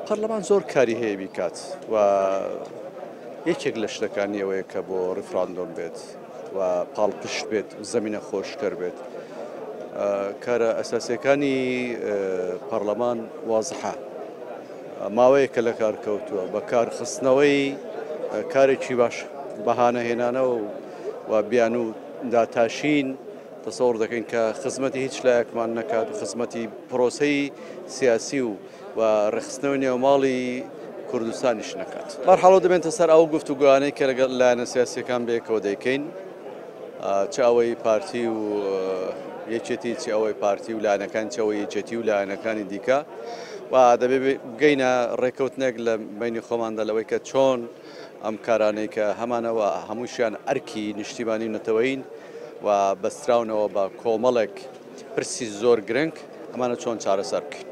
پەرلەمان زۆر کاری هەیە بیکات و یەکێک لە شتەکانی ئەوەیە کە بۆ ڕیفراندۆم بێت و پاڵپشت بێت و زەمینە خۆشکەر بێت. کارە ئەساسیەکانی پەرلەمان وازحە، ماوەیەکە لە کار کەوتووە، بە کارخستنەوەی کارێکی باش بەهانە هێنانەوە و بیانوو داتاشین تەسەوڕ دەکەین کە خزمەتی هیچ لایەکمان نەکات و خزمەتی پرۆسەی سیاسی و و ڕێکخستنەوەی نێوماڵی کوردستانیش نەکات. بەرحاڵ دەبێنتە سەر ئەو گفتوگۆیانەی کە لەگەڵ لایەنە سیاسیەکان بەیەکەوە دەیکەین، چ ئەوەی پارتی و یەکێتی، چ ئەوەی پارتی و لایەنەکان، چ ئەوەی یەکێتی و لایەنەکانی دیکە، و دەبێ بگەینە ڕێککەوتنێک لە بەینی خۆماندا لەوەی کە چۆن ئەم کارانەی کە هەمانەوە هەمووشیان ئەرکی نیشتیمانی و نەتەوەیین و بەستراونەوە بە کۆمەڵێک پرسی زۆر گرنگ، ئەمانە چۆن چارەسەر بکەین.